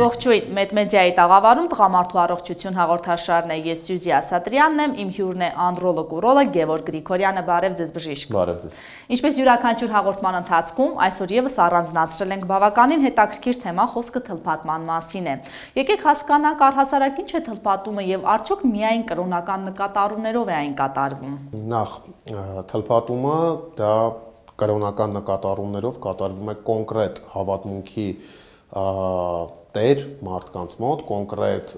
Ողջույն, Մեդմեդիայի տաղավարում տղամարդու առողջություն հաղորդաշարն է, ես Սյուզի Ասատրյանն եմ, իմ հյուրն է անդրոլոգ ուրոլոգ Գևորգ Գրիգորյանը, բարև ձեզ բժիշկ։ Բարև ձեզ։ Ինչպես յուրաքանչյուր հաղորդման ընթացքում, այսօր եւս առանձնացրել ենք բավականին հետաքրքիր թեմա, խոսքը թլփատման մասին է։ Եկեք հասկանանք առհասարակ ինչ է թլփատումը եւ արդյոք միայն կրոնական նկատառումներով է այն կատարվում։ Նախ թլփատումը դա կրոնական նկատառումներով կատարվում է կոնկրետ հավատմունքի տեր մարդկանց մոտ, կոնկրետ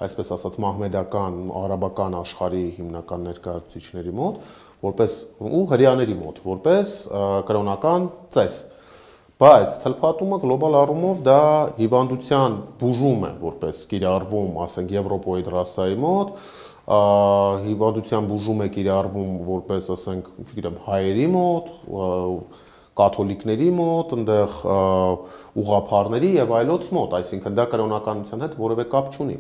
այսպես ասած մահմեդական, արաբական աշխարհի հիմնական ներկայացուցիչների մոտ, որպես ու հրեաների մոտ, որպես կրոնական ծես։ Բայց թլփատումը գլոբալ առումով դա հիվանդության բուժում է, որպես կիրառվում, ասենք եվրոպոիդ ռասայի մոտ, հիվանդության բուժում է կիրառվում որպես, ասենք, չգիտեմ, հայերի մոտ, կաթոլիկների մոտ, այնտեղ ուղղափառների եւ այլոց մոտ, այսինքն դա կրոնականության հետ որևէ կապ չունի։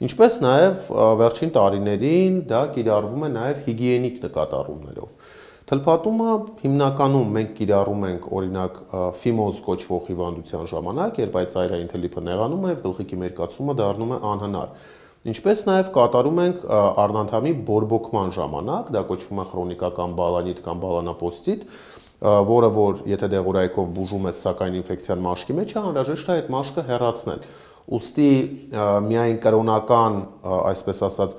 Ինչպես նաեւ վերջին տարիներին դա կիրառվում է նաեւ հիգիենիկ նկատառումներով։ Թլփատումը հիմնականում մենք կիրառում ենք օրինակ ֆիմոզ կոչվող հիվանդության ժամանակ, երբ այդ ծայրային թլիփը նեղանում է եւ գլխիկի մերկացումը դառնում է անհնար։ Ինչպես նաև կատարում ենք արնանդամի բորբոքման ժամանակ, դա կոչվում է քրոնիկական բալանիտ կամ բալանապոստիտ, որը որ եթե դեղորայքով բուժում է սակայն ինֆեկցիան մաշկի մեջ է, անհրաժեշտ է այդ մաշկը հեռացնել։ Ուստի միայն կրոնական, այսպես ասած,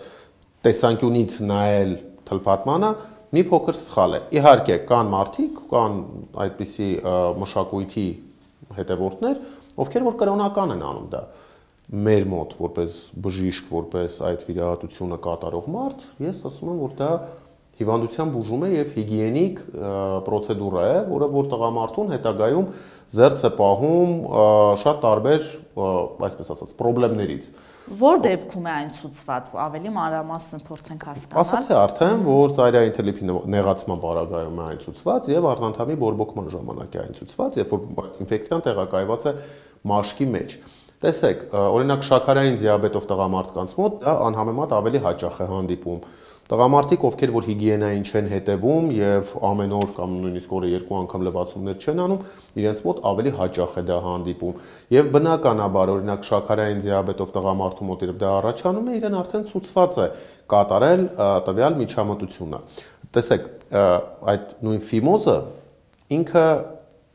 տեսանկյունից նայել թլփատմանը մի փոքր սխալ է։ Իհարկե, կան մարդիկ, կան այդպիսի մշակույթի հետևորդներ, ովքեր որ կրոնական են անում դա։ Մեր մոտ որպես բժիշկ, որպես այդ վիրահատությունը կատարող մարդ, ես ասում եմ, որ դա հիվանդության բուժում է եւ հիգիենիկ պրոցեդուրա է, որը որ տղամարդուն հետագայում զերծ է պահում շատ տարբեր, այսպես ասած, խնդիրներից։ Որ դեպքում է այն ցուցված, ավելի մանրամասն փորձենք հասկանալ։ Ասացի արդեն, որ ծայրային թլիփի նեղացման պարագայում է այն ցուցված եւ արնանդամի բորբոքման ժամանակ է այն ցուցված, երբ որ ինֆեկցիան տեղակայված է մաշկի մեջ։ Տեսեք, օրինակ շաքարային դիաբետով տղամարդկանց մոտ դա անհամեմատ ավելի հաճախ է հանդիպում։ Տղամարդիկ, ովքեր որ հիգիենային չեն հետևում եւ ամեն օր կամ նույնիսկ օրը 2 անգամ լվացումներ չեն անում, իրենց մոտ ավելի հաճախ է դա հանդիպում։ Եւ բնականաբար, օրինակ շաքարային դիաբետով տղամարդու մոտ երբ դա առաջանում է, իրեն արդեն ցուցված է կատարել տվյալ միջամտությունը։ Տեսեք, այդ նույն ֆիմոզը ինքը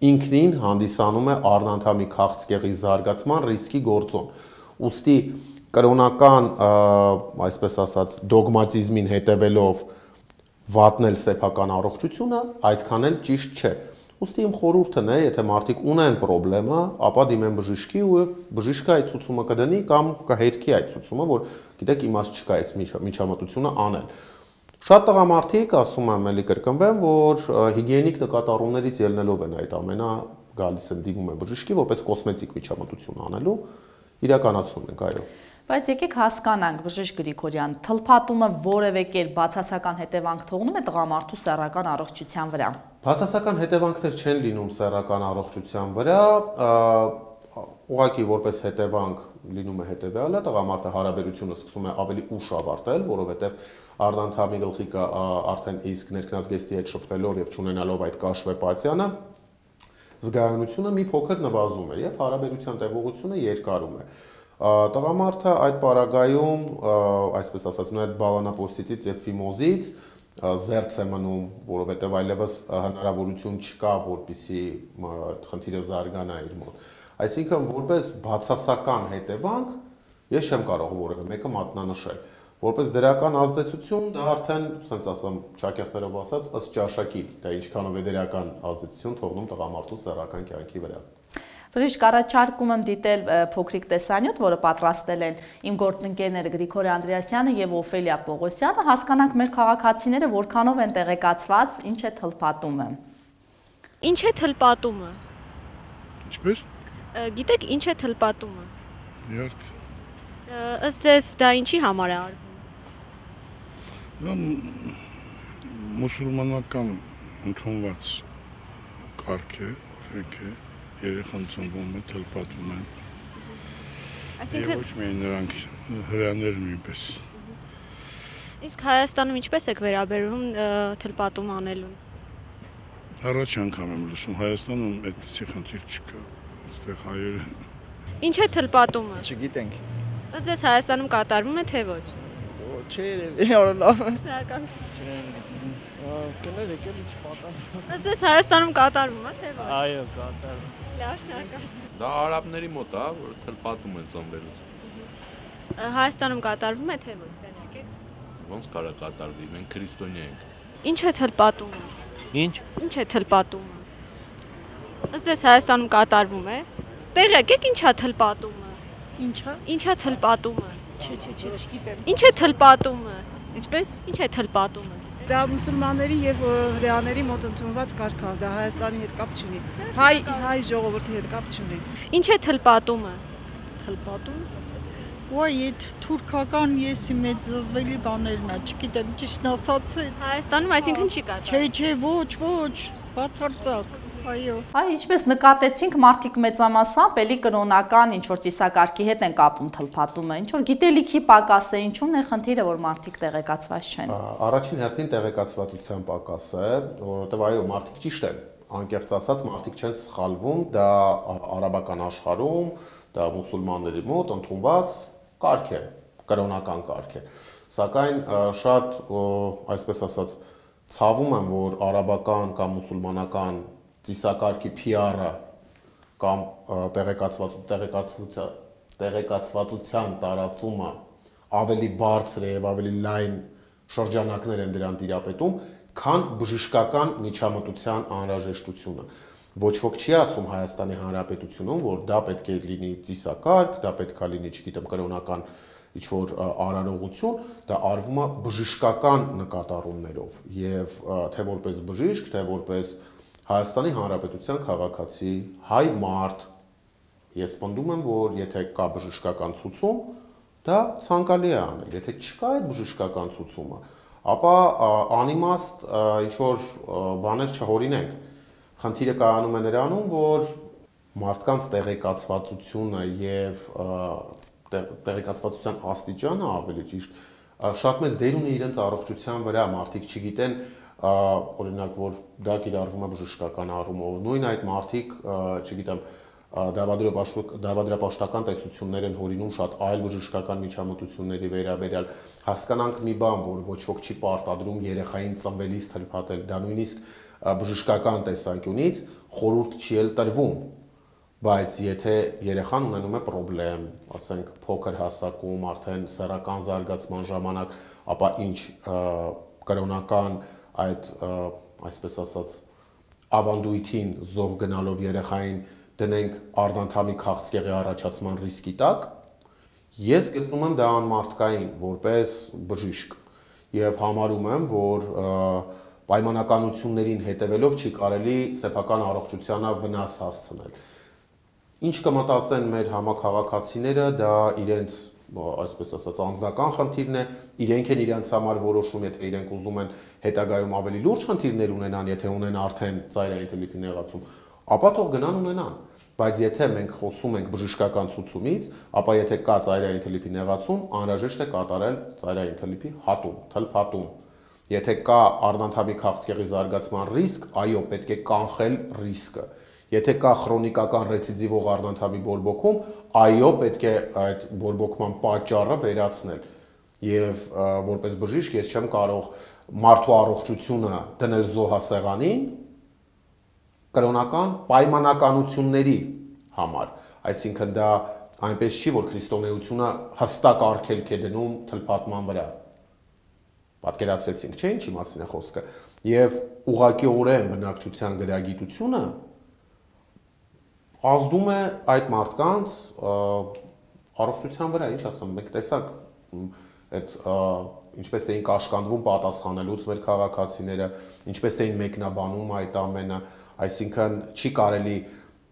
ինքնին հանդիսանում է արնանդամի քաղցկեղի զարգացման ռիսկի գործոն։ Ուստի կրոնական, այսպես ասած, դոգմատիզմին հետևելով վատնել սեփական առողջությունը այդքան էլ ճիշտ չէ։ Ուստի իմ խորհուրդն է, եթե մարդիկ ունեն խնդրեմը, ապա դիմեն բժշկի ու բժիշկը այդ ցուցումը կդնի կամ կհերքի այդ ցուցումը, որ գիտեք իմաստ չկա այս միջամտությունը անել։ Շատ տղամարդիկ, ասում եմ, էլի կրկնվեմ, որ հիգիենիկ նկատառումներից ելնելով են այդ ամենը գալիս են դիմում են բժշկի, որպես կոսմետիկ միջամտություն անելու, իրականացնում ենք, այո։ Բայց եկեք հասկանանք, բժիշկ Գրիգորյան, թլփատումը որևէ կերպ բացասական հետևանք թողնում է տղամարդու սեռական առողջության վրա։ Բացասական հետևանքներ չեն լինում սեռական առողջության վրա, ուղղակի որպես հետևանք լինում է հետևյալը, տղամարդը հարաբերությունը սկսում է ավելի ուշ ավարտել, որովհետև արնանդամի գլխիկը արդեն իսկ ներքնազգեստի հետ շփվելով եւ չունենալով այդ կաշվեպացիանը, զգայունությունը մի փոքր նվազում է եւ հարաբերության տևողությունը երկարում է։ Տղամարդը այդ պարագայում, այսպես ասած, նույն այդ բալանապոստիտից եւ ֆիմոզից զերծ է մնում, որովհետեւ այլևս հնարավորություն չկա, որպեսզի խնդիրը զարգանա իր մոտ։ Այսինքն, որպես բացասական հետևանք, ես չեմ կարող որևէ մեկը մատնանշել։ Որպես դրական ազդեցություն, դա արդեն, ասենց ասեմ, ճակերտներով ասած, ըստ ճաշակի, դա ինչքանով է դրական ազդեցություն թողնում տղամարդու սեռական կյանքի վրա։ Բժիշկ, առաջարկում եմ դիտել փոքրիկ տեսանյութ, որը պատրաստել են իմ գործընկերները Գրիգոր Անդրեասյանը եւ Օֆելիա Պողոսյանը, հասկանանք մեր քաղաքացիները որքանով են տեղեկացված, ինչ է թլփատումը։ Ինչ է թլփատումը։ Ինչպես։ Գիտեք, ինչ է թլփատումը։ Իհարկե։ Ըստ ձեզ դա ինչի համար է արվում։ Մուսուլմանական ընդունված կարգ է, օրենք է, երեխան ծնվում է, թլփատում են։ Այսինքն ոչ միայն նրանք հրեաներ նույնպես։ Իսկ Հայաստանում ինչպես եք վերաբերվում թլփատում անելուն։ Առաջ անգամ եմ լսում, Հայաստանում այդպիսի խնդիր չկա, այստեղ հայերը Ինչ է թլպատումը։ Չգիտենք։ Ըստ ձեզ Հայաստանում կատարվում է թե ոչ։ Չէ, երևի լավ է։ Շնորհակալ։ Կներ եկել չպատասխան։ Ըստ ձեզ Հայաստանում կատարվում է թե ոչ։ Այո, կատարվում։ Լավ, շնորհակալ։ Դա արաբների մոտ է, որ թլպատում են ծնվելուց։ Հայաստանում կատարվում է թե ոչ, տենակ եք։ Ոնց կարա կատարվի, մենք քրիստոնյա ենք։ Ինչ է թլպատումը։ Ինչ։ Ինչ է թլպատումը։ Ըստ ձեզ Հայաստանում կատարվում է։ Տեղյակ եք ինչա թլպատումը։ Ինչա։ Ինչա թլպատումը։ Չէ, չգիտեմ։ Ինչ է թլպատումը։ Ինչպես։ Ինչ է թլպատումը։ Դա մուսուլմանների եւ հրեաների մոտ ընդունված կարգ է, դա Հայաստանի հետ կապ չունի։ Հայ ժողովրդի հետ կապ չունի։ Ինչ է թլպատումը։ Թլպատում։ Ոայ, այդ թուրքական եսի մեծ զզվելի բաներն է, չգիտեմ, ճիշտ ասած է։ Հայաստանում այսինքն չի կատարվում։ Չէ, ոչ, բացարձակ։ Այո։ Այ ինչպես նկատեցինք, մարդիկ մեծամասամբ էլի կրոնական ինչ-որ ծիսակարգի հետ են կապում թլփատումը, ինչ-որ գիտելիքի պակաս է, ինչու՞մն է խնդիրը, որ մարդիկ տեղեկացված չեն։ Առաջին հերթին տեղեկացվածության պակաս է, որովհետև այո, մարդիկ ճիշտ են, անկեղծ ասած, մարդիկ չեն սխալվում, դա արաբական աշխարհում, դա մուսուլմանների մոտ ընդունված կարգ է, կրոնական կարգ է։ Սակայն շատ, այսպես ասած, ցավում եմ, որ արաբական կամ մուսուլմանական ծիսակարգի PR-ը կամ տեղեկացվածության տարածումը ավելի բարձր է եւ ավելի լայն շրջանակներ են դրան տիրապետում, քան բժշկական միջամտության անհրաժեշտությունը։ Ոչ ոք չի ասում Հայաստանի Հանրապետությունում, որ դա պետք է լինի ծիսակարգ, դա պետք է լինի, չգիտեմ, կրոնական ինչ-որ արարողություն, դա արվում է բժշկական նկատառումներով եւ թե որպես բժիշկ, թե որպես Հայաստանի Հանրապետության քաղաքացի, հայ մարդ, ես պնդում եմ, որ եթե կա բժշկական ցուցում, դա ցանկալի է անել, եթե չկա այդ բժշկական ցուցումը, ապա անիմաստ ինչ-որ բաներ չհորինենք։ Խնդիրը կայանում է նրանում, որ մարդկանց տեղեկացվածությունը եւ տեղեկացվածության աստիճանը ավելի ճիշտ շատ մեծ դեր ունի իրենց առողջության վրա, մարդիկ չգիտեն օրինակ, որ դա կիրառվում է բժշկական առումով, նույն այդ մարդիկ, չգիտեմ, դավադրապաշտական տեսություններ են հորինում շատ այլ բժշկական միջամտությունների վերաբերյալ, հասկանանք մի բան, որ ոչ ոք չի պարտադրում երեխային ծնվելիս թլփատել, դա նույնիսկ բժշկական տեսանկյունից խորհուրդ չի էլ տրվում, բայց եթե երեխան ունենում է պրոբլեմ, ասենք փոքր հասակում, արդեն սեռական զարգացման ժամանակ, ապա ինչ կրոնական այդ, այսպես ասած, ավանդույթին զոհ գնալով երեխային դնենք արդանթամի քաղցկեղի առաջացման ռիսկի տակ, ես գտնում եմ դա անմարդկային, որպես բժիշկ, եւ համարում եմ, որ պայմանականություններին հետևելով չի կարելի սեփական առողջությանը վնաս հասցնել։ Ինչ կմտածեն մեր համաքաղաքացիները, դա իրենց, այսպես ասած, անձնական խնդիրն է, իրենք են իրենց համար որոշում, եթե իրենք ուզում են հետագայում ավելի լուրջ խնդիրներ ունենան, եթե ունեն արդեն ծայրային թլիփի նեղացում, ապա թող գնան ունենան, բայց եթե մենք խոսում ենք բժշկական ցուցումից, ապա եթե կա ծայրային թլիփի նեղացում, անհրաժեշտ է կատարել ծայրային թլիփի հատում, թլփատում։ Եթե կա արդանթամի քաղցկեղի զարգացման ռիսկ, այո, պետք է կանխել ռիսկը։ Եթե կա քրոնիկական ռեցիդիվող արդանթամի բորբոքում, այո, պետք է այդ բորբոքման պատճառը վերացնել։ Եվ որպես բժիշկ ես չեմ կարող մարդու առողջությունը դնել զոհասեղանին կրոնական պայմանականությունների համար։ Այսինքն դա այնպես չի, որ քրիստոնեությունը հստակ արգելք է դնում թլփատման վրա։ Պատկերացրեցինք, չէ՞ ինչի մասին է խոսքը։ Եվ ուղղակիորեն բնակչության գրագիտությունը ազդում է այդ մարդկանց առողջության վրա, ինչ ասեմ, մենք տեսակ այդ ինչպես էին կաշկանդվում պատասխանելուց մեր քաղաքացիները, ինչպես էին մեկնաբանում այդ ամենը, այսինքն չի կարելի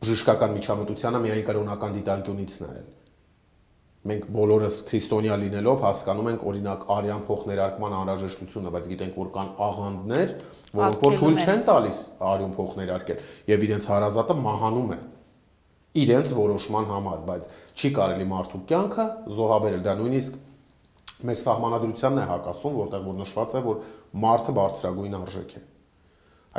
բժշկական միջամտությանը միայն կրոնական դիտանկյունից նայել։ Մենք բոլորս քրիստոնյա լինելով հասկանում ենք օրինակ արյան փոխներարկման անհրաժեշտությունը, բայց գիտենք, որ կան աղանդներ, որոնք որ թույլ չեն տալիս արյուն փոխներարկել, եւ իրենց հարազատը մահանում է իրենց որոշման համար, բայց չի կարելի մարդու կյանքը զոհաբերել, դա նույնիսկ մեր սահմանադրությանն է հակասում, որտեղ որ նշված է, որ մարդը բարձրագույն արժեք է։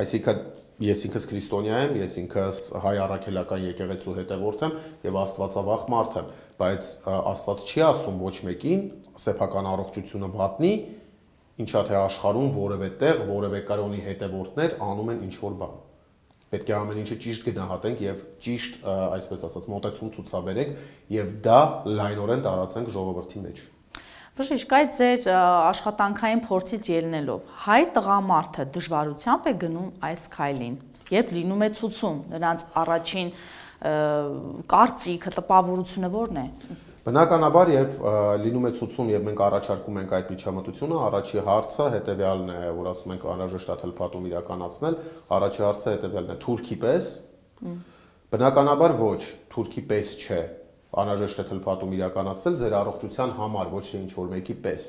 Այսինքն ես ինքս քրիստոնյա եմ, ես ինքս հայ առաքելական եկեղեցու հետևորդ եմ եւ աստվածավախ մարդ եմ, բայց Աստված չի ասում ոչ մեկին սեփական առողջությունը վատնի, ինչա թե աշխարհում որևէ տեղ, որևէ կրոնի հետևորդներ անում են ինչ-որ բան։ Պետք է ամեն ինչը ճիշտ գնահատենք եւ ճիշտ, այսպես ասած, մոտեցում ցուցաբերենք եւ դա լայնորեն տարածենք ժողովրդի մեջ։ Բժիշկ, այդ ձեր աշխատանքային փորձից ելնելով, հայ տղամարդը դժվարությամբ է գնում այս քայլին, երբ լինում է ցուցում, նրանց առաջին կարծիքը, տպավորությունը ո՞րն է։ Բնականաբար, երբ լինում է ցուցում եւ մենք առաջարկում ենք այդ միջամտությունը, առաջի հարցը հետեւյալն է, որ ասում ենք անհրաժեշտ է թլփատում իրականացնել, առաջի հարցը հետեւյալն է՝ թուրքի պես։ Բնականաբար ոչ, թուրքի պես չէ։ Անհրաժեշտ է թլփատում իրականացնել ձեր առողջության համար, ոչ թե ինչ-որ մեկի պես։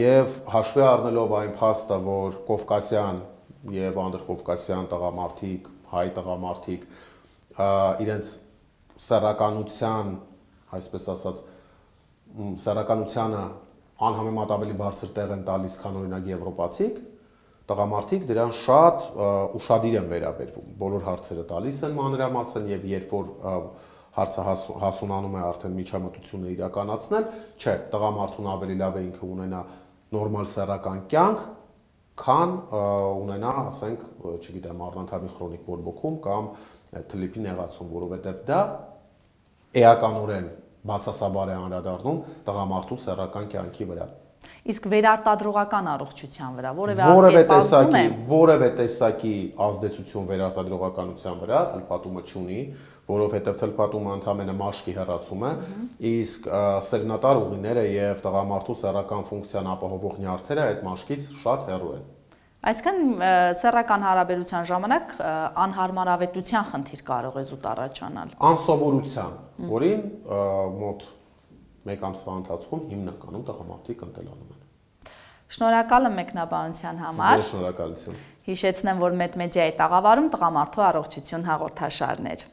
Եվ հաշվի առնելով այն փաստը, որ կովկասյան եւ անդրկովկասյան տղամարդիկ, հայ տղամարդիկ իրենց սեռականության, այսպես ասած, սեռականությանը անհամեմատ ավելի բարձր տեղ են տալիս, քան օրինակ եվրոպացիք, տղամարդիկ դրան շատ ուշադիր են վերաբերվում, բոլոր հարցերը տալիս են մանրամասն եւ երբ որ հարցը հասունանում է արդեն միջամտությունը իրականացնել, չէ, տղամարդուն ավելի լավ է ինքը ունենա նորմալ սեռական կյանք, քան ունենա, ասենք, չգիտեմ, առնանդամի քրոնիկ բորբոքում կամ թլիպի նեղացում, որովհետեւ դա էականորեն բացասաբար է անդրադառնում տղամարդու սեռական կյանքի վրա։ Իսկ վերարտադրողական առողջության վրա որևէ տեսակի ազդեցություն վերարտադրողականության վրա թլփատումը չունի, որովհետև թլփատումը ընդհանրապես մաշկի հեռացում է, իսկ սերնատար ուղիները եւ տղամարդու սեռական ֆունկցիան ապահովող նյարդերը այդ մաշկից շատ հեռու են։ Այսինքն սեռական հարաբերության ժամանակ անհարմարավետության խնդիր կարող է զուտ առաջանալ։ Անսովորության, որին մոտ 1 ամսվա ընթացքում հիմնականում տղամարդիկ ընտելանում են։ Շնորհակալ եմ մեկնաբանության համար։ Ձեր շնորհակալություն։ Հիշեցնեմ, որ Մեդմեդիայի տաղավարում տղամարդու առողջություն հաղորդաշարներ։